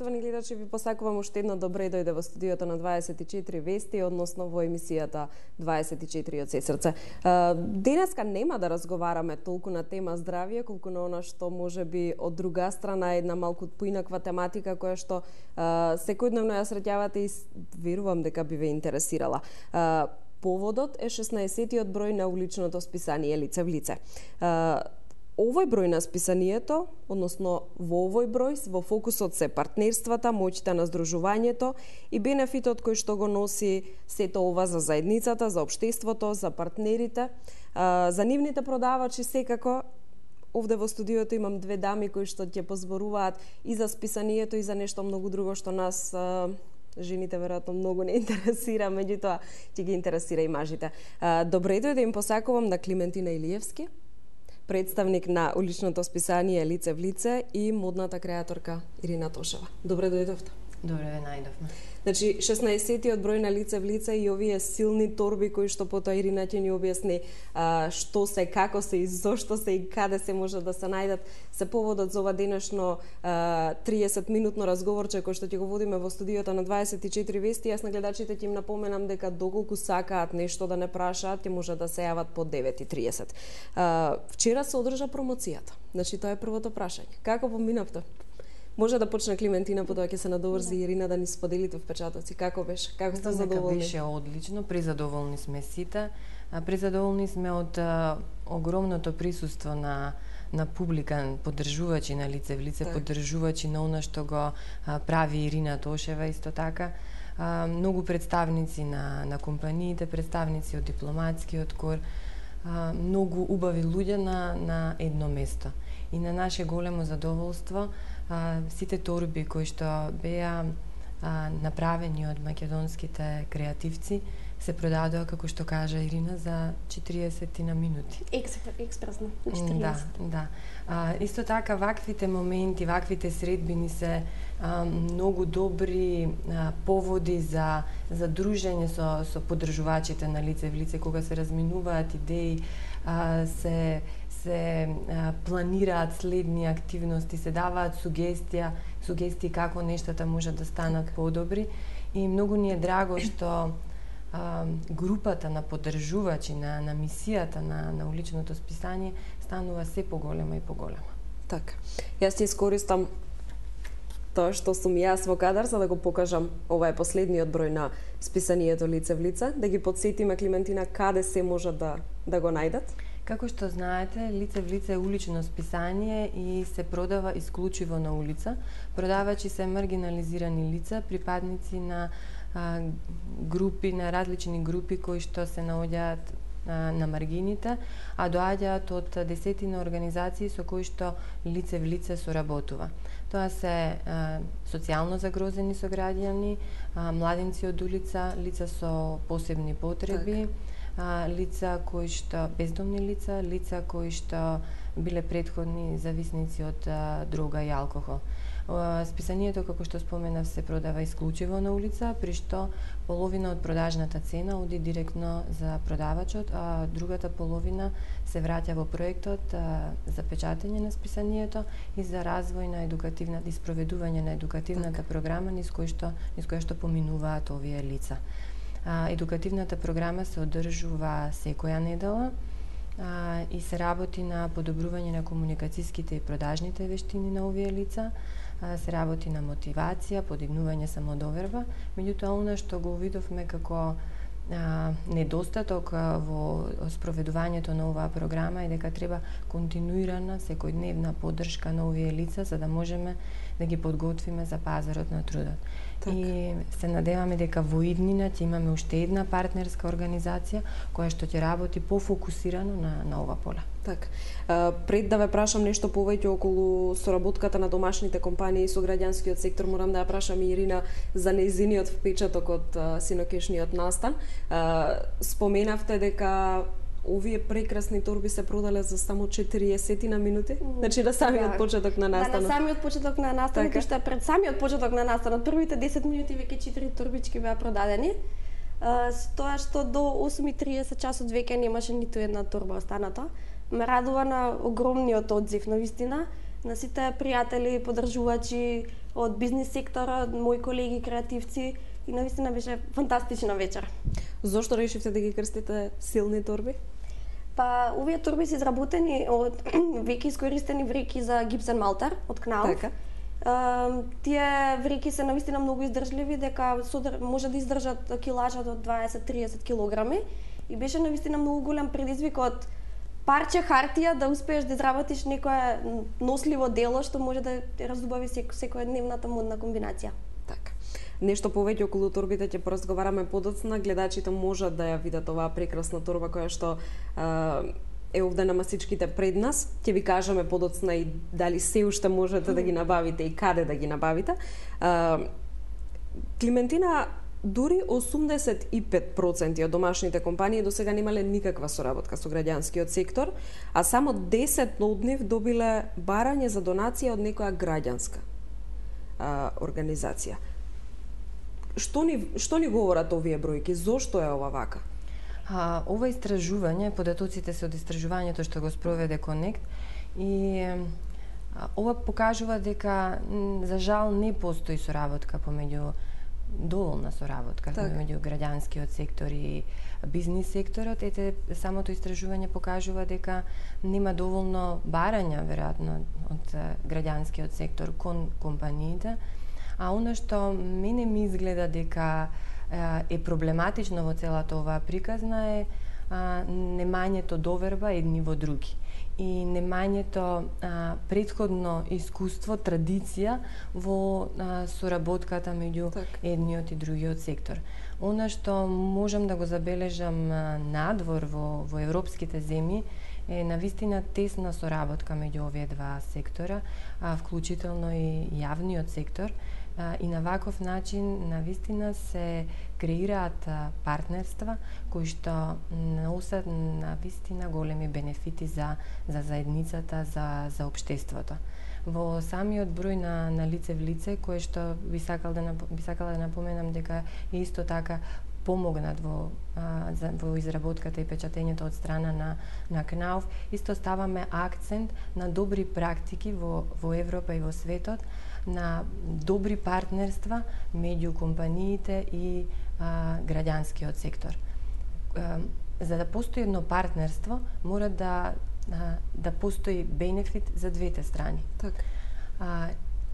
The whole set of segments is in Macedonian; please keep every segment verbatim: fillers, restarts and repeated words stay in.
Почитувани гледачи, ви посакувам уште едно добре дојде во студиото на дваесет и четири вести, односно во емисијата дваесет и четири од се срце. Денеска нема да разговараме толку на тема здравје, колку на она што може би од друга страна една малку поинаква тематика која што секојдневно ја среќавате и верувам дека би ве интересирала. Поводот е шеснаесеттиот број на уличното списание Лице в лице. Овој број на списанието, односно во овој број, во фокусот се партнерствата, моќта на здружувањето и бенефитот кој што го носи сето ова за заедницата, за општеството, за партнерите, за нивните продавачи секако. Овде во студиото имам две дами кои што ќе позборуваат и за списанието и за нешто многу друго што нас жените веројатно многу не интересира, меѓутоа ќе ги интересира и мажите. Добре дојде да им посакувам на Климентина Илиевски, представник на уличното списание Лице в лице и модната креаторка Ирина Тошева. Добре дојдовте. Добре ве најдовме. Значи, шеснаесеттиот број на Лице в лице и овие силни торби кои што потоа Ирина ќе ни објасни а, што се, како се и зошто се и каде се може да се најдат, се поводот за ова денешно а, триесет минутно разговорче кој што ќе го водиме во студиото на дваесет и четири вести. Јас на гледачите ќе им напоменам дека доколку сакаат нешто да не прашаат, ќе може да се јават по девет и триесет. А, вчера се одржа промоцијата. Значи, тоа е првото прашање. Како поминавте? Може да почне Климентина, потоа ќе се надоврзи да. Ирина да ни споделите впечатоци. Како беше? Како сте задоволни? Беше одлично, презадоволни сме сите. Презадоволни сме од а, огромното присуство на на публика, поддржувачи на Лице в лице, так. поддржувачи на она што го а, прави Ирина Тошева исто така. А, многу представници на на компаниите, представници од дипломатскиот кор, а, многу убави луѓе на на едно место. И на наше големо задоволство а, сите торби кои што беа а, направени од македонските креативци се продадоа, како што кажа Ирина, за четириесет на минути. Експресно, на четириесет. Да, да. А, исто така, ваквите моменти, ваквите средбини се а, многу добри а, поводи за, за дружење со, со поддржувачите на Лице в лице, кога се разминуваат идеи, а, се се а, планираат следни активности, се даваат сугестија, сугестии како нештата може да станат подобри и многу ни е драго што а, групата на поддржувачи на, на мисијата на, на уличното списание станува се поголема и поголема. Така. Јас ќе искористам тоа што сум јас во кадар за да го покажам. Ова е последниот број на списанието Лице в лице, да ги подсетиме Климентина каде се може да да го најдат. Како што знаете, Лице в лице е улично списание и се продава исклучиво на улица. Продавачи се маргинализирани лица, припадници на а, групи, на различни групи кои што се наоѓаат а, на маргините, а доаѓаат од десетина организации со кои што Лице в лице соработува. Тоа се а, социјално загрозени сограѓани, а, младинци од улица, лица со посебни потреби, так. А, лица кои што бездомни лица, лица кои што биле претходни зависници од а, дрога и алкохол. А, списанието, како што споменав, се продава исклучиво на улица, при што половина од продажната цена оди директно за продавачот, а другата половина се враќа во проектот а, за печатење на списанието и за развој на едукативната и спроведување на едукативната програма низ која што низ која што поминуваат овие лица. А, едукативната програма се одржува секоја недела а, и се работи на подобрување на комуникацијските и продажните вештини на овие лица, а, се работи на мотивација, подигнување самодоверба, меѓутоа она што го видовме како а, недостаток а, во спроведувањето на оваа програма е дека треба континуирана секојдневна поддршка на овие лица за да можеме да ги подготвиме за пазарот на трудот. Так. И се надеваме дека во иднина ќе имаме уште една партнерска организација која што ќе работи пофокусирано на, на ова поле. Так. А, пред да ве прашам нешто повеќе околу соработката на домашните компании со граѓанскиот сектор, морам да ја прашам и Ирина за нејзиниот впечаток од синокешниот настан. А, споменавте дека овие прекрасни торби се продале за само четириесет на минути. Значи на самиот да. почеток на настанот. Да, на самиот почеток на настанот, така. Што пред самиот почеток на настанот, првите десет минути веќе четири торбички беа продадени. С тоа што до осум и триесет часот веќе немаше ниту една торба останата. Ме радува на огромниот одзив, на вистина. на сите пријатели, поддржувачи од бизнис секторот, мои колеги креативци и навистина беше фантастична вечер. Зошто решивте да ги крстите силни торби? Па, овие торби се изработени од веќе искористени вреки за гипсен малтар од Кнауф. Така. Uh, тие вреки се навистина многу издржливи, дека содар, може да издржат килажа до дваесет до триесет килограми и беше навистина многу голем предизвик од парче хартија да успееш да изработиш некое носливо дело што може да разубави сек, секојдневната модна комбинација. Така. Нешто повеќе околу торбите ќе поразговараме подоцна. Гледачите можат да ја видат оваа прекрасна торба која што uh, е овде на масичките пред нас. Ќе ви кажеме подоцна и дали се уште можете да ги набавите и каде да ги набавите. Uh, Климентина, дури осумдесет и пет проценти од домашните компании до сега немале никаква соработка со граѓанскиот сектор, а само десет од нив добиле барање за донација од некоја граѓанска uh, организација. Што ни, што ни говорат овие бројки? Зошто е ова вака? А, ова истражување, податоците се од истражувањето што го спроведе Конект и а, ова покажува дека за жал не постои соработка помеѓу доволна соработка так. Помеѓу граѓанскиот сектор и бизнис секторот. Ете, самото истражување покажува дека нема доволно барања веројатно од граѓанскиот сектор кон компаниите, а она што мене ми изгледа дека е проблематично во целата оваа приказна е а, немањето доверба едни во други и немањето а, претходно искуство, традиција во а, соработката меѓу так. Едниот и другиот сектор. Она што можам да го забележам а, надвор во, во европските земји е навистина тесна соработка меѓу овие два сектора, а, вклучително и јавниот сектор. И на ваков начин навистина се креираат партнерства кои што носат навистина големи бенефити за за заедницата, за за општеството. Во самиот број на на лице в лице кој што би сакал да би сакала да напоменам дека е исто така помогнат во а, за, во изработката и печатењето од страна на на Кнауф, исто ставаме акцент на добри практики во во Европа и во светот, на добри партнерства меѓу компаниите и а, граѓанскиот сектор. А, за да постои едно партнерство, мора да а, да постои бенефит за двете страни. Така. А,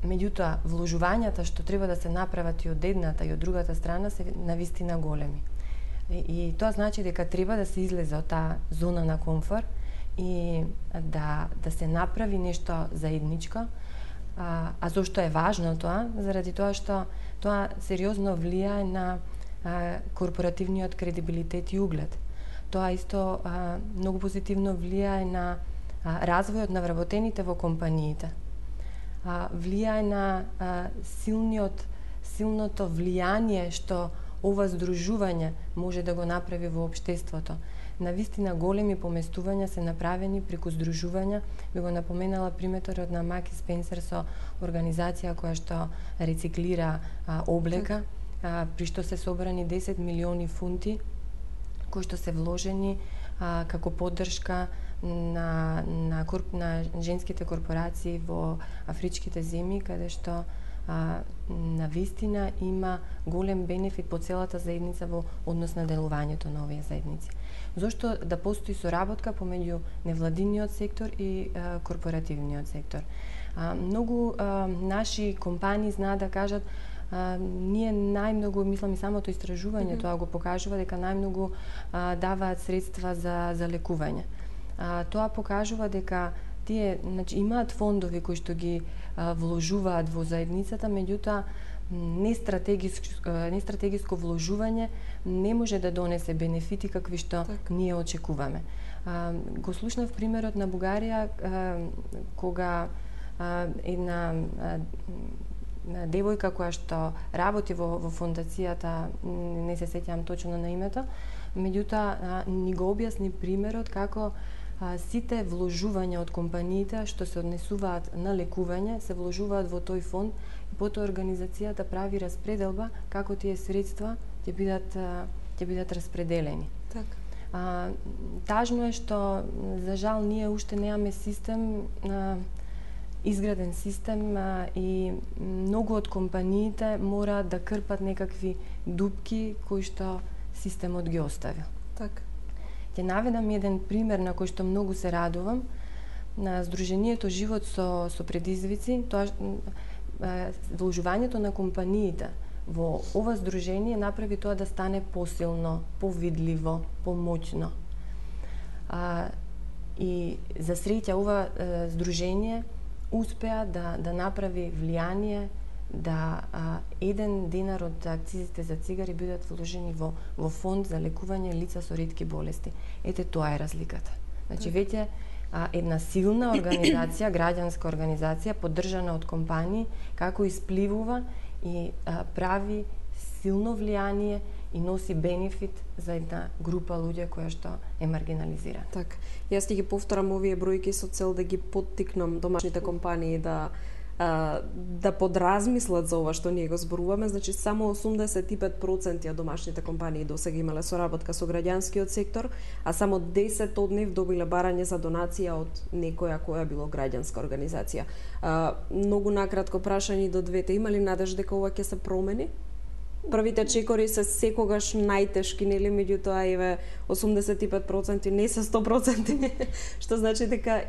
меѓутоа, вложувањата што треба да се направат и од едната и од другата страна се навистина големи. И, и тоа значи дека треба да се излезе од таа зона на комфорт и да да се направи нешто заедничко. А, а зошто е важно тоа? Заради тоа што тоа сериозно влијае на а, корпоративниот кредибилитет и углед. Тоа исто а, многу позитивно влијае на а, развојот на вработените во компаниите. А, влијае на а, силниот, силното влијание што ова здружување може да го направи во општеството. Навистина големи поместувања се направени преку здружувања. Би го напоменала приметот на Маки Спенсер со организација која што рециклира а, облека, а, при што се собрани десет милиони фунти кои што се вложени а, како поддршка на на, корп, на женските корпорации во афричките земји, каде што а, навистина има голем бенефит по целата заедница во однос на делувањето на овие заедници. Зошто да постои соработка помеѓу невладиниот сектор и а, корпоративниот сектор? А, многу а, наши компании знаат да кажат а, ние најмногу, мислам и самото истражување mm -hmm. тоа го покажува дека најмногу а, даваат средства за за лекување. А, тоа покажува дека тие, значи, имаат фондови кои што ги а, вложуваат во заедницата, меѓутоа не стратегиско, не стратегиско вложување не може да донесе бенефити какви што так. Ние очекуваме. А, го слушнав примерот на Бугарија, а, кога а, една а, девојка која што работи во, во фондацијата, не се сеќавам точно на името, меѓутоа ни го објасни примерот како а, сите вложувања од компаниите што се однесуваат на лекување се вложуваат во тој фонд и потоа организацијата прави распределба како тие средства ќе бидат ќе бидат распределени. Така. А, тажно е што за жал ние уште немаме систем а, изграден систем а, и многу од компаниите мораат да крпат некакви дупки кои што системот ги оставил. Така. Ќе наведам еден пример на кој што многу се радувам. На Сдруженијето Живот со, со предизвици, тоа вложувањето на компаниите во ова здружение направи тоа да стане посилно, повидливо, помоќно. А, и за среќа ова е, здружение успеа да, да направи влијание да а, еден динар од акцизите за цигари бидат вложени во, во фонд за лекување лица со ретки болести. Ете, тоа е разликата. Значи, веќе а, една силна организација, граѓанска организација, поддржана од компании, како испливува и а, прави силно влијание и носи бенефит за една група луѓе која што е маргинализирана. Така. Јас ќе ги повторам овие бројки со цел да ги поттикнам домашните компании да да подразмислат за ова што ние го зборуваме. Значи, само осумдесет и пет проценти од домашните компании досега имале соработка со граѓанскиот сектор, а само десет од нив добиле барање за донација од некоја која било граѓанска организација. А, многу накратко прашање до двете, има ли надеж дека ова ќе се промени? Првите чекори се секогаш најтешки, нели, меѓутоа еве осумдесет и пет проценти не се сто проценти, што значи дека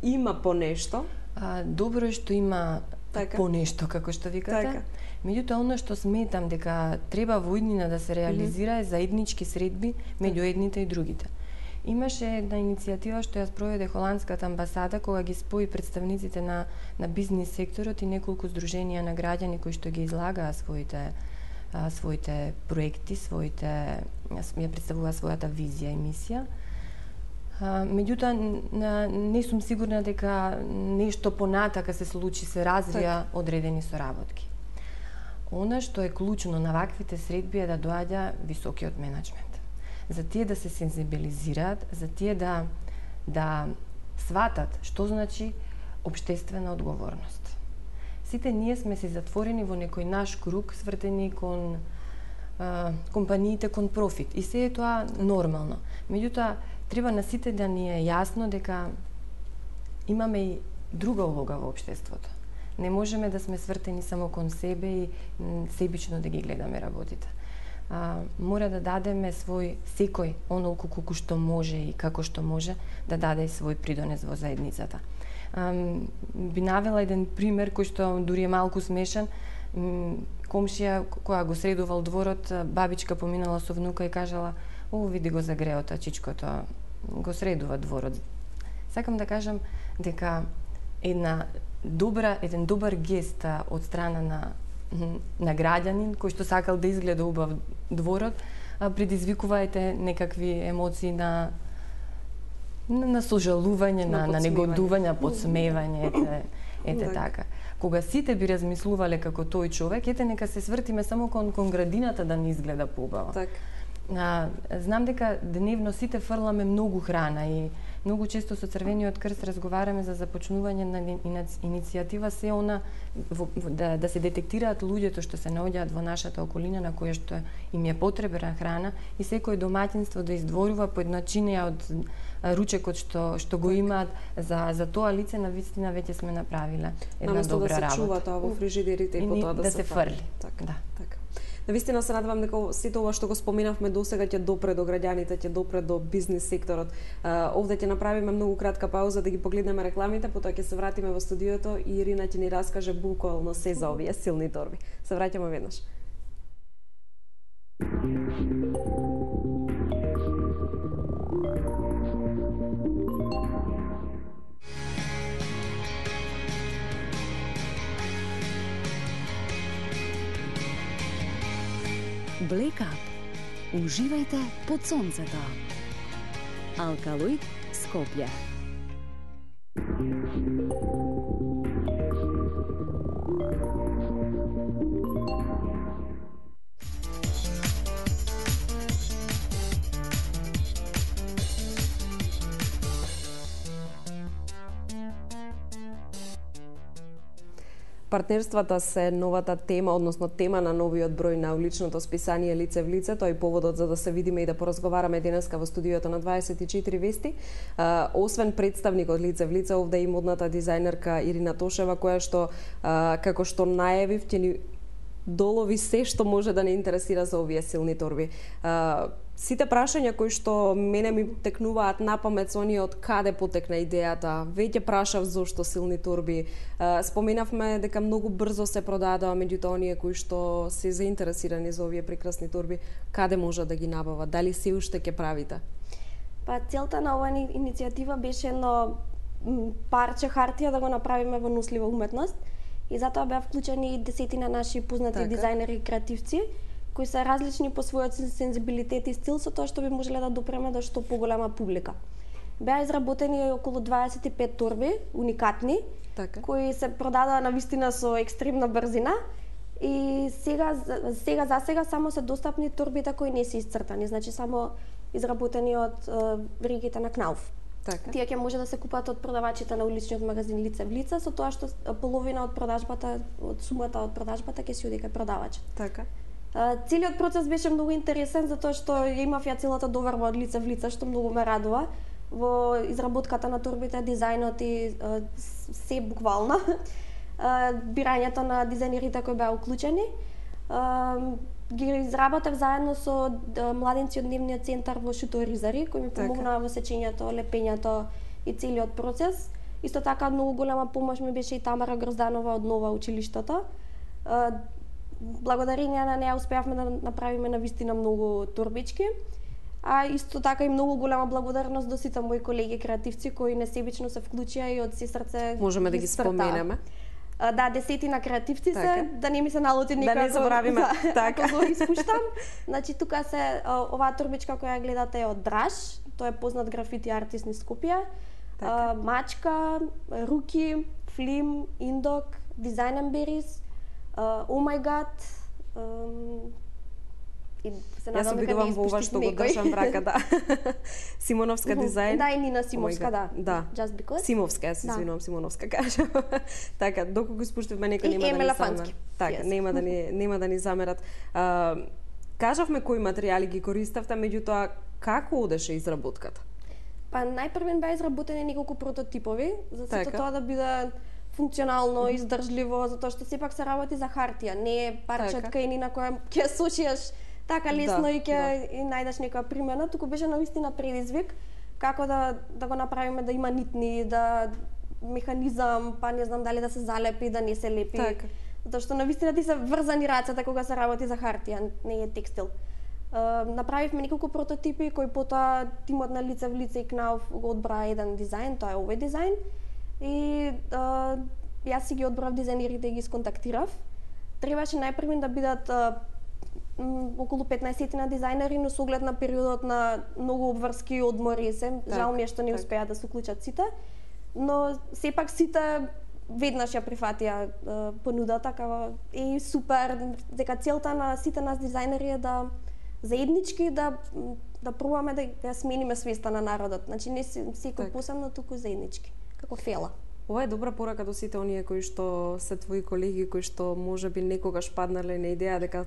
има по нешто. А, добро е што има така. По нешто, како што викате. Така. Меѓутоа, оно што сметам дека треба во иднина да се реализира е заеднички средби меѓу едните и другите. Имаше една иницијатива што ја спроведе холандската амбасада кога ги спои представниците на, на бизнис секторот и неколку здруженија на граѓани кои што ги излагаа своите а, своите проекти, своите ја представува својата визија и мисија. А, меѓутоа, не сум сигурна дека нешто понатака се случи, се развија одредени соработки. Она што е клучно на ваквите средби е да доаѓа високиот менеджмент. За тие да се сензибилизираат, за тие да, да сватат што значи општествена одговорност. Сите ние сме си затворени во некој наш круг, свртени кон а, компаниите, кон профит. И се е тоа нормално. Меѓутоа, треба на сите да ни е јасно дека имаме и друга улога во општеството. Не можеме да сме свртени само кон себе и себично да ги гледаме работите. А, мора да дадеме свој, секој, онолку колку што може и како што може, да даде свој придонес во заедницата. А, би навела еден пример кој што дури е малку смешен. Комшија која го средувал дворот, бабичка поминала со внука и кажала: "О, види го загреото, чичкото го средува дворот." Сакам да кажам дека една добра, еден добар гест од страна на на граѓанин кој што сакал да изгледа убав дворот, предизвикувајте некакви емоции на на, на сожалување, на, на, на негодување, подсмевање, ете, ете така. Кога сите би размислувале како тој човек, ете нека се свртиме само кон, кон градината да не изгледа поубаво. Так. А, знам дека деневно сите фрламе многу храна и многу често со Црвениот крст разговараме за започнување на иницијатива се она во, да, да се детектираат луѓето што се наоѓаат во нашата околина на која што им е потребна храна и секој домаќинство да издворува по една чинија од ручекот што што го имаат за за тоа лице, на вистина веќе сме направиле една Наместо добра работа. Да се чува тоа во фрижидерите и, и потоа да, да се, се фрли. Така, да. така. Навистина се надевам дека сите ова што го споменавме досега ќе допре до граѓаните, ќе допре до бизнис секторот. Uh, овде ќе направиме многу кратка пауза да ги погледнеме рекламите, потоа ќе се вратиме во студиото и Ирина ќе ни раскаже буквално се за овие силни торби. Се враќаме веднаш. Black Up. Уживајте под сонцето. Алкалоид Скопје. Партнерствата се новата тема, односно тема на новиот број на уличното списание Лице в лице, тоа е поводот за да се видиме и да поразговараме денеска во студиото на дваесет и четири вести. А, освен представникот Лице в лице, овде и модната дизајнерка Ирина Тошева, која што, а, како што најавив, ќе ни долови се што може да не интересира за овие силни торби. А, сите прашања кои што мене ми текнуваат на памет со оние од каде потекна идејата, веќе прашав зошто силни торби. А, споменавме дека многу брзо се продадоа, меѓутоа оние кои што се заинтересирани за овие прекрасни торби, каде може да ги набават? Дали се уште ќе правите? Па целта на оваа иницијатива беше едно парче хартија да го направиме во нослива уметност. И затоа беа вклучени десетина наши познати така. Дизајнери и креативци, кои се различни по својот сензибилитет и стил, со тоа што би можеле да допреме до што поголема публика. Беа изработени околу дваесет и пет торби, уникатни, така. Кои се продадоа навистина со екстремна брзина. И сега, сега за сега само се достапни торбите кои не се исцртани, значи само изработени од веригите на Кнауф. Така. Тие ќе може да се купат од продавачите на уличниот магазин Лице в лице, со тоа што половина од продажбата, од сумата од продажбата ќе се оди кај продавачот. Така. Целиот процес беше многу интересен затоа што ја имав ја целата доверба од Лице в лице, што многу ме радува во изработката на торбите, дизајнот и се буквално. Бирањето на дизајнерите кои беа уклучени. Ги изработев заедно со младенци од Дневниот центар во Шуторизари, кои ми помогнаа во сечењето, лепењето и целиот процес. Исто така многу голема помош ми беше и Тамара Грозданова од Нова училиштото. Благодарение на неа успеавме да направиме навистина многу торбички. А исто така и многу голема благодарност до сите мои колеги креативци кои несебично се вклучија и од се срце можеме да ги споменеме. Да, десетина креативци така. Се, да не ми се налути никако. Да не заборавиме. Да, така. Ако го испуштам. Значи, тука се, оваа торбичка која гледате е од Драж, тој е познат графити артист низ Скопје. Така. Мачка, руки, флим, индок, Design and Berries, Oh My God, и се Јас обидувам во ова што го држам в рака, да. Симоновска дизајн. Да, и Нина Симовска, да. Да. Just because. Симовска, јас се извинувам, Симоновска кажам. Така, доколку испуштивме некој нема да ни замерат. Така, yes. нема да ни нема да ни замерат. А, кажавме кои материјали ги користавте, меѓутоа како одеше изработката? Па најпрвен беа изработени неколку прототипови, за сето тоа да биде функционално, издржливо, затоа што сепак се работи за хартија, не е парчетка и ни на која ќе сошиеш така лесно да, и ќе да. И најдеш некоја примена, туку беше навистина предизвик како да да го направиме да има нитни, да механизам, па не знам дали да се залепи, да не се лепи. Така. Затоа што навистина ти се врзани рацете кога се работи за хартија, не е текстил. Uh, направивме неколку прототипи кои потоа тимот на Лице в лице и Кнауф го одбра еден дизајн, тоа е овој дизајн. И uh, јас си ги одбрав дизајнерите и ги сконтактирав. Требаше најпрвен да бидат uh, околу петнаесет на дизајнери, но со оглед на периодот на многу обврски одмори се, так, жал ми е што не успеа да се уклучат сите, но сепак сите веднаш ја прифатија uh, понудата, како е супер, дека целта на сите нас дизајнери е да заеднички да да пробаме да ја смениме свеста на народот. Значи не секој посебно, туку заеднички, како фела. Ова е добра порака до сите оние кои што се твои колеги, кои што можеби некогаш паднале на идеја дека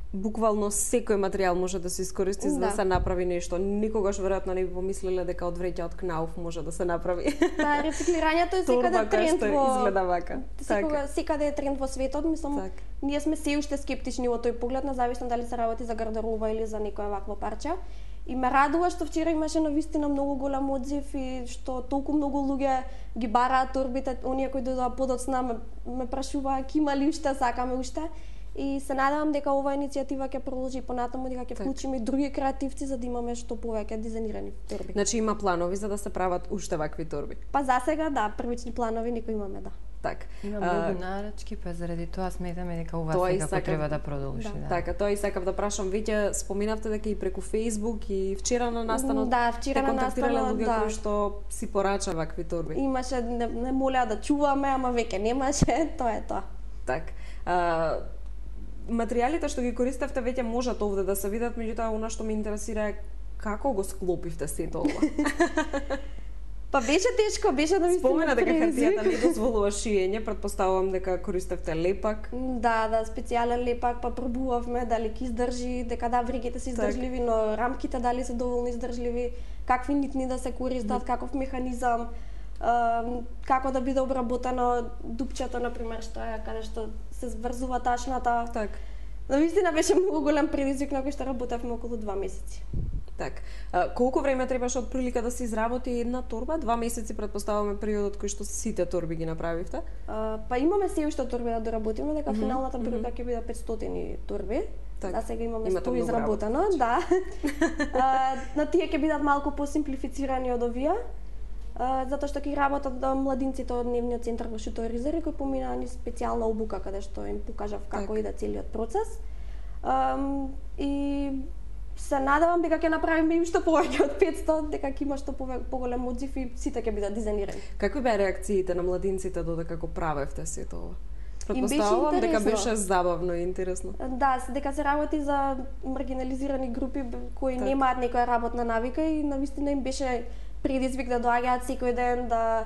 буквално секој материјал може да се искористи за да, да се направи нешто. Никогаш веројатно не би помислиле дека од вреќа од Кнауф може да се направи. Да, рециклирањето е секаде тренд во изгледа вака. Секога секаде е тренд во светот, мислам. Так. Ние сме се уште скептични во тој поглед, независно дали се работи за гардероба или за некоја вакво парче. И ме радува што вчера имаше навистина многу голем одзив и што толку многу луѓе ги бараат торбите, оние кои дојдоа подоцна ме, ме прашуваа има ли уште, сакаме уште. И се надевам дека оваа иницијатива ќе продолжи понатаму, дека ќе вклучиме и други креативци за да имаме што повеќе дизајнирани торби. Значи има планови за да се прават уште вакви торби. Па за сега да, првични планови некои имаме, да. Так. Има многу нарачки, па заради тоа сметаме дека ова сега сакав... треба да продолжи. Да. Да. Така, тоа и сакав да прашам. Веќе споминавте дека и преку Facebook и вчера на настанот да, вчера на настанот, луѓе да. кои што си порача вакви торби. Имаше, не, не молеа да чуваме, ама веќе немаше, тоа е тоа. Так. А, материјалите што ги користевте веќе можат овде да се видат, меѓутоа она што ме интересира е како го склопивте сето ова. Па беше тешко, беше навистина. Спомена дека хартијата не дозволува шиење, претпоставувам дека користевте лепак. Да, да, специјален лепак, па пробувавме дали ќе издржи, дека да, вригите се издржливи, но рамките дали се доволно издржливи, какви нитни да се користат, каков механизам, како да биде обработено дупчето, например, што е каде што се зврзува ташната. Так. Навистина беше многу голем предизвик на кој што работевме околу два месеци. Так. А, колку време требаше од прилика да се изработи една торба? Два месеци претпоставуваме периодот кој што сите торби ги направивте? А, па имаме се уште торби да доработиме, дека mm -hmm. финалната бројка ќе биде петстотини торби. Так. Да, сега имаме Имате сто изработено, да. а, на тие ќе бидат малку посимплифицирани од овие. Uh, затоа што ќе работат да, младинците од дневниот центар во Шуторизери кои поминаа ни специјална обука каде што им покажав како иде целиот процес. Um, и се надевам дека ќе направиме и уште повеќе од петсто, дека ќе има што поголем одзив и сите ќе бидат дизајнирани. Какви беа реакциите на младинците додека го правевте сето ова? Претпоставувам дека беше забавно и интересно. Да, дека се работи за маргинализирани групи кои так. немаат некоја работна навика и навистина им беше предизвик да доаѓаат секој ден, да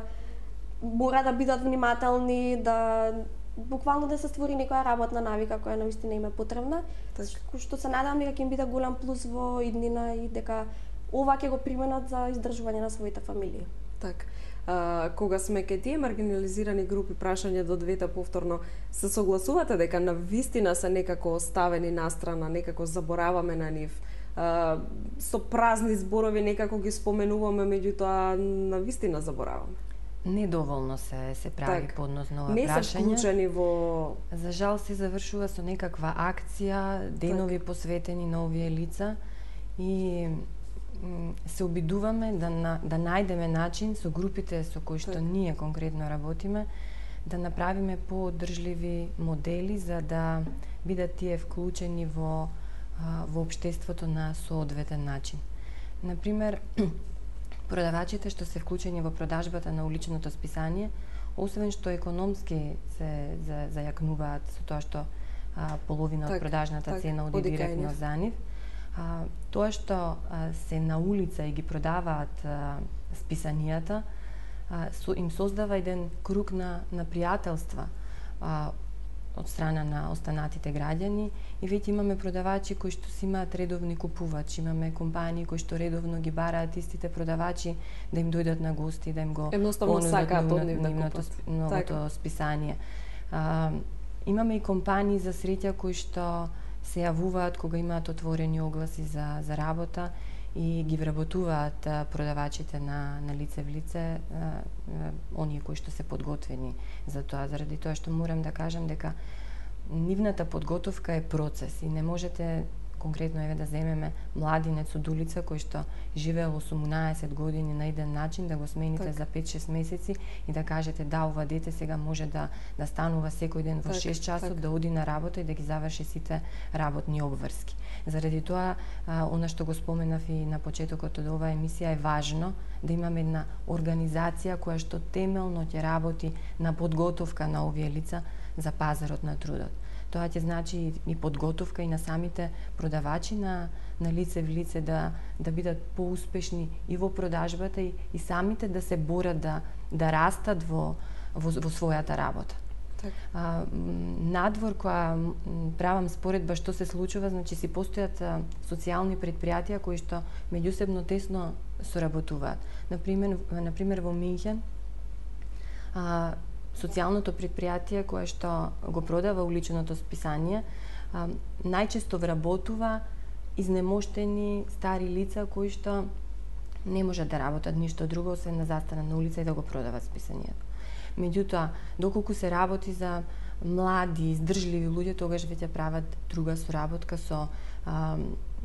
мора да бидат внимателни, да буквално да се створи некоја работна навика која навистина им е потребна, так. што се надевам дека ќе им биде голем плюс во иднина и дека ова ќе го применат за издржување на своите фамилии. Так. А, кога сме кај тие маргинализирани групи, прашање до двете повторно, се согласувате дека навистина се некако оставени настрана, некако забораваме на нив? Uh, со празни зборови некако ги споменуваме, меѓутоа навистина забораваме. Недоволно се се прави так. Поднос на ова не прашање. Не се вклучени во... За жал се завршува со некаква акција, денови так. Посветени на овие лица и се обидуваме да, на, да најдеме начин со групите со кои што так. Ние конкретно работиме, да направиме поодржливи модели за да бидат тие вклучени во во општеството на соодветен начин. Например, продавачите што се вклучени во продажбата на уличното списание, освен што економски се за, зајакнуваат со тоа што а, половина так, од продажната так, цена оди директно за нив, а, тоа што а, се на улица и ги продаваат а, списанијата, а, со, им создава еден круг на, на пријателства, а, од страна на останатите граѓани и веќе имаме продавачи кои што си имаат редовни купувачи, имаме компании кои што редовно ги бараат истите продавачи да им дојдат на гости, да им го едноставно сакаат од нив да купат новото списание. А, имаме и компании за среќа кои што се јавуваат кога имаат отворени огласи за за работа и ги вработуваат а, продавачите на на лице в лице, а, а, оние кои што се подготвени за тоа, заради тоа што морам да кажам дека нивната подготовка е процес и не можете конкретно еве да земеме младинец од улица кој што живеел осумнаесет години на еден начин, да го смените так. За пет-шест месеци и да кажете да, ова дете сега може да да станува секој ден во так, шест часот, так. Да оди на работа и да ги заврши сите работни обврски. Заради тоа, а, она што го споменав и на почетокот од оваа емисија, е важно да имаме една организација која што темелно ќе работи на подготовка на овие лица за пазарот на трудот. Тоа ќе значи и подготовка и на самите продавачи на на лице в лице да да бидат поуспешни и во продажбата и, и самите да се борат да да растат во во, во својата работа. Так. А, надвор која правам споредба што се случува, значи си постојат а, социјални предпријатија кои што меѓусебно тесно соработуваат. Например, например во Минхен а, социјалното предпријатие кое што го продава уличното списание а, најчесто вработува изнемоштени стари лица кои што не можат да работат ништо друго освен да застанат на улица и да го продават списанието. Меѓутоа, доколку се работи за млади, издржливи луѓе, тогаш веќе прават друга соработка со а,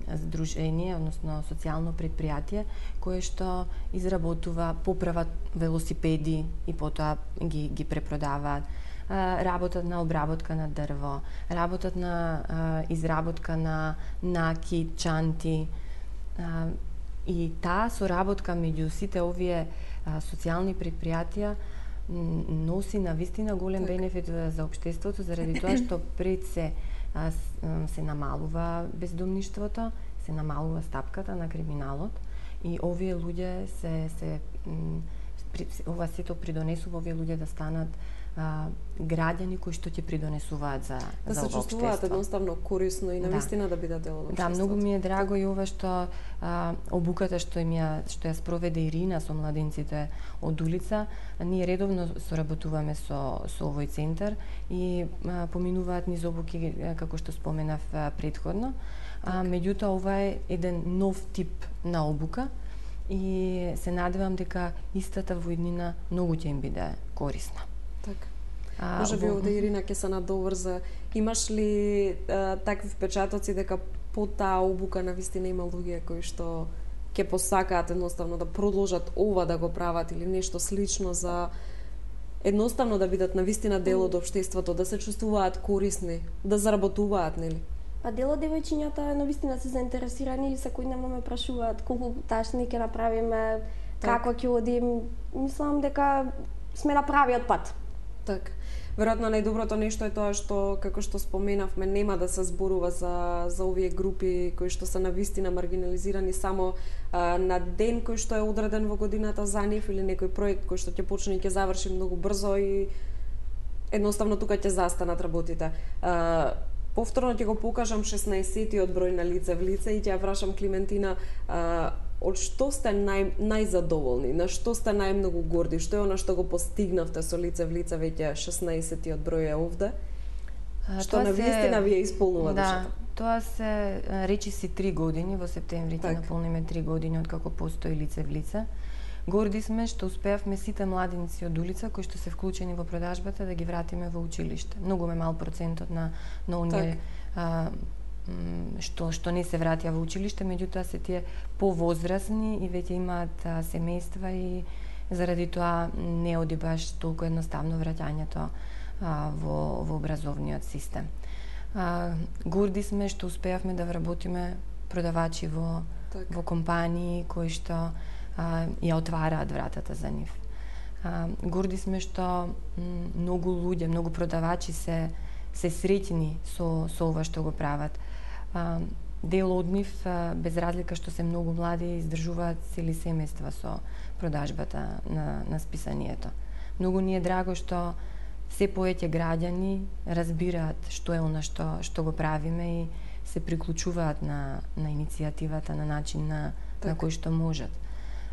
здружение, односно социјално предпријатие, кое што изработува, поправат велосипеди и потоа ги, ги препродаваат. А, работат на обработка на дрво, работат на а, изработка на накид, чанти. А, и таа соработка меѓу сите овие а, социјални предпријатија носи на вистина голем так. Бенефит за општеството, заради тоа што пред се а, се намалува бездомништвото, се намалува стапката на криминалот и овие луѓе се се ова сето придонесува овие луѓе да станат а, граѓани кои што ќе придонесуваат за да за се ова чувствуваат општество. едноставно корисно и навистина да, да бидат дел од општеството. Да, многу ми е драго и ова што а, обуката што им ја што ја спроведе Ирина со младинците од улица. Ние редовно соработуваме со со овој центар и а, поминуваат низ обуки како што споменав а, претходно. А, меѓутоа ова е еден нов тип на обука и се надевам дека истата во иднина многу ќе им биде корисна. Така. А, Може би во... овде Ирина ќе се надоврза. Имаш ли а, такви впечатоци дека по таа обука навистина има луѓе кои што ќе посакаат едноставно да продолжат ова да го прават или нешто слично за едноставно да бидат навистина дел од општеството, да се чувствуваат корисни, да заработуваат, нели? Па дел од девојчињата навистина се заинтересирани и секојдневно ме прашуваат колку ташни ќе направиме, како ќе одим. Мислам дека сме на правиот пат. Така. Веројатно најдоброто нешто е тоа што, како што споменавме, нема да се зборува за, за овие групи кои што се навистина маргинализирани само а, на ден кој што е одреден во годината за нив или некој проект кој што ќе почне и ќе заврши многу брзо и едноставно тука ќе застанат работите. А, повторно ќе го покажам шеснаесеттиот број на лице в лице и ќе ја прашам Климентина, а, од што сте нај, најзадоволни, на што сте најмногу горди, што е она што го постигнавте со лице в лице веќе шеснаесеттиот број е овде, а, што на вистина ви ја исполнува да, душата? Тоа се речиси три години, во септември ќе наполниме три години од како постои лице в лице. Горди сме што успеавме сите младинци од улица кои што се вклучени во продажбата да ги вратиме во училиште. Многу ме мал процентот на на оние а, што што не се вратија во училиште, меѓутоа се тие повозрасни и веќе имаат а, семејства и заради тоа не оди баш толку едноставно враќањето а, во во образовниот систем. А, горди сме што успеавме да вработиме продавачи во так. во компании кои што а, ја отвараат вратата за нив. А, горди сме што многу луѓе, многу продавачи се се среќни со со ова што го прават. А, дел од нив, а, без разлика што се многу млади, издржуваат цели семејства со продажбата на на списанието. Многу ни е драго што се повеќе граѓани разбираат што е она што што го правиме и се приклучуваат на на иницијативата на начин на так. на кој што можат.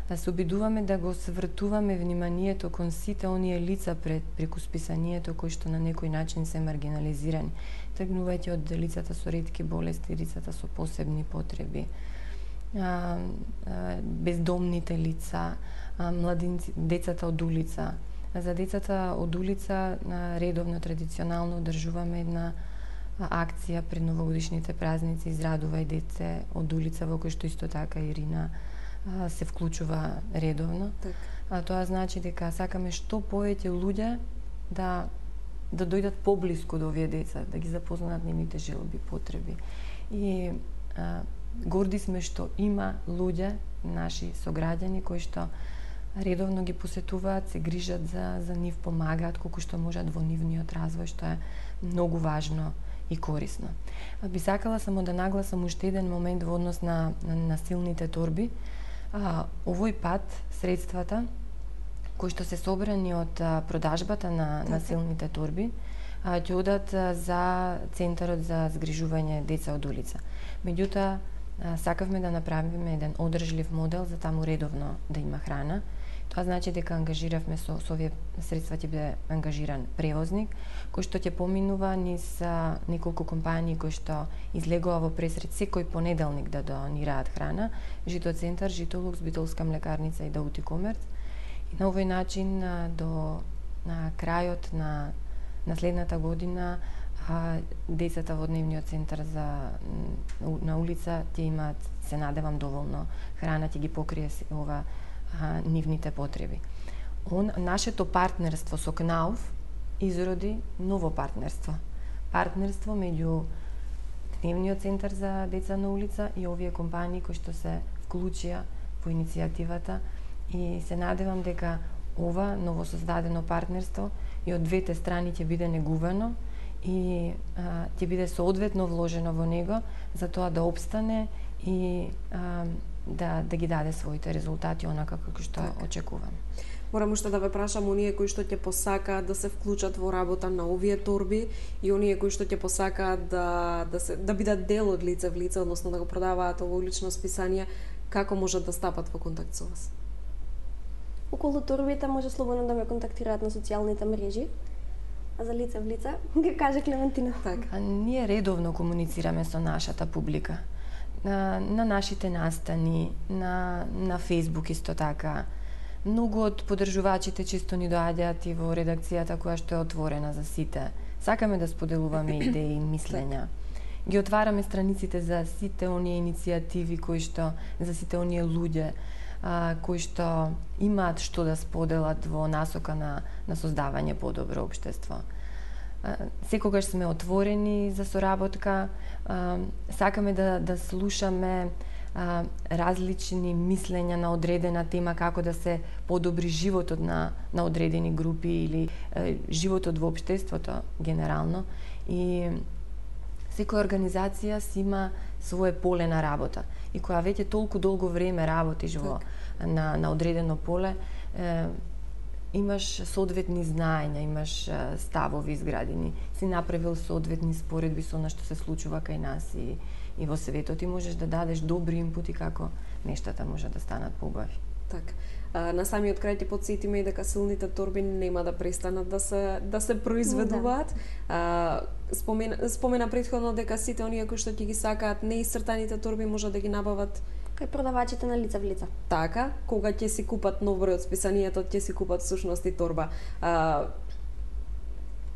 Да се обидуваме да го свртуваме вниманието кон сите оние лица пред преку списанието кои што на некој начин се маргинализирани, тргнувајќи од лицата со ретки болести, лицата со посебни потреби, а, а, бездомните лица, а, младинци, децата од улица. За децата од улица редовно традиционално одржуваме една акција пред новогодишните празници "Израдувај деце од улица", во кој што исто така Ирина се вклучува редовно. Так. А тоа значи дека сакаме што повеќе луѓе да да дојдат поблиску до овие деца, да ги запознаат нивните желби, потреби. И а, горди сме што има луѓе, наши сограѓани кои што редовно ги посетуваат, се грижат за за нив, помагаат колку што можат во нивниот развој, што е многу важно и корисно. Би сакала само да нагласам уште еден момент во однос на на, на силните торби. А, овој пат средствата кои што се собрани од а, продажбата на, на силните торби а, ќе одат а, за Центарот за згрижување деца од улица. Меѓутоа, а, сакавме да направиме еден одржлив модел за таму редовно да има храна. Тоа значи дека ангажиравме со, со овие средства ќе биде ангажиран превозник кој што ќе поминува низ а, неколку компании кои што излегува во пресред секој понеделник да донираат храна: Жито Центар, Жито Лукс, Битолска млекарница и Даути Комерц. И на овој начин а, до на крајот на на следната година а, децата во дневниот центар за на улица ќе имаат, се надевам, доволно храна, ќе ги покрие ова а, нивните потреби. Он, нашето партнерство со КНАУФ изроди ново партнерство. Партнерство меѓу Дневниот центар за деца на улица и овие компании кои што се вклучија во иницијативата, и се надевам дека ова новосоздадено партнерство и од двете страни ќе биде негувано и а, ќе биде соодветно вложено во него за тоа да опстане и а, да, да ги даде своите резултати онака како што так. очекуваме. Морам уште да ве прашам, оние кои што ќе посакаат да се вклучат во работа на овие торби и оние кои што ќе посакаат да да се да бидат дел од лице в лице, односно да го продаваат ово улично списание, како можат да стапат во контакт со вас? Околу торбите може слободно да ме контактираат на социјалните мрежи. А за лице в лице, ќе каже Клементина. Така. А ние редовно комуницираме со нашата публика. На, на нашите настани, на, на Facebook исто така. Многу од подржувачите често ни доаѓаат и во редакцијата која што е отворена за сите. Сакаме да споделуваме идеи и мислења. Ги отвараме страниците за сите оние иницијативи кои што, за сите оние луѓе а, кои што имаат што да споделат во насока на, на создавање подобро општество. А, секогаш сме отворени за соработка, а, сакаме да, да слушаме а, различни мислења на одредена тема, како да се подобри животот на, на одредени групи или а, животот во општеството генерално. И секоја организација си има свое поле на работа. И која веќе толку долго време работиш во, на, на одредено поле, е, имаш соодветни знаења, имаш е, ставови изградени, си направил соодветни споредби со она што се случува кај нас и, и во светот и можеш да дадеш добри инпути како нештата може да станат поубави. Така. На самиот крај ќе потсетиме и дека силните торби нема да престанат да се да се произведуваат. Да. Спомена, спомена претходно дека сите оние кои што ќе ги сакаат неисцртаните торби може да ги набават кај продавачите на лице в лице. Така, кога ќе си купат нов број од списанието, ќе си купат всушност и торба. А,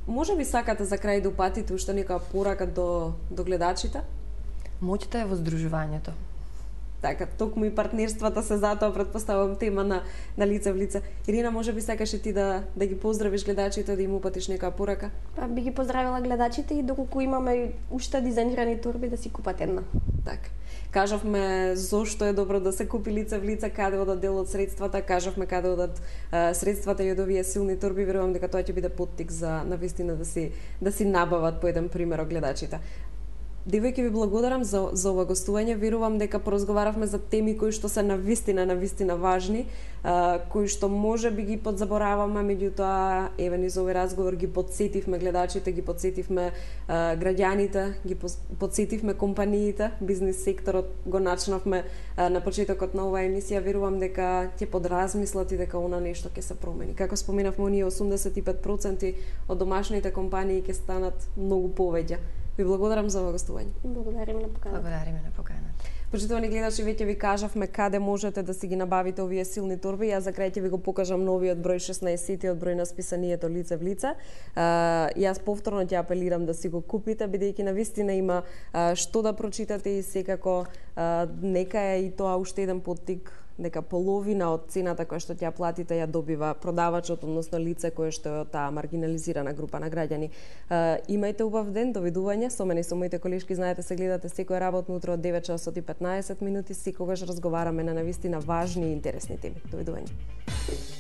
може би сакате за крај да упатите уште нека порака до до гледачите? Моќта е во здружувањето. Така, токму и партнерствата се затоа претпоставувам тема на на лице в лице. Ирина, може би сакаш и ти да да ги поздравиш гледачите, да им упатиш нека порака? Па би ги поздравила гледачите и доколку имаме уште дизајнирани торби да си купат една. Така. Кажавме зошто е добро да се купи лице в лице, каде одат дел од средствата, кажавме каде одат а, средствата и од овие силни торби, верувам дека тоа ќе биде поттик за навистина да си да си набават по еден пример гледачите. Девојки, ви благодарам за, за ова гостување. Верувам дека поразговаравме за теми кои што се навистина, навистина важни, а, кои што може би ги подзабораваме, меѓутоа, еве низ овој разговор ги подсетивме гледачите, ги подсетивме а, граѓаните, ги подсетивме компаниите, бизнис секторот го начнавме а, на почетокот на оваа емисија. Верувам дека ќе подразмислат и дека она нешто ќе се промени. Како споменавме, оние осумдесет и пет проценти од домашните компании ќе станат многу повеќе. Ви благодарам за ова гостување. Благодариме на поканата. Благодариме на поканата. Почитувани гледачи, веќе ви кажавме каде можете да си ги набавите овие силни торби. Јас за крај ќе ви го покажам новиот број шеснаесет од број на списанието Лице в лице. А, јас повторно ќе апелирам да си го купите, бидејќи навистина има а, што да прочитате и секако а, нека е и тоа уште еден поттик дека половина од цената која што ќе ја платите ја добива продавачот, односно лице кое што е од таа маргинализирана група на граѓани. Uh, имајте убав ден, довидување. Со мене и со моите колешки, знаете, се гледате секој работно утро од девет часот и петнаесет минути, секогаш разговараме на навистина важни и интересни теми. Довидување.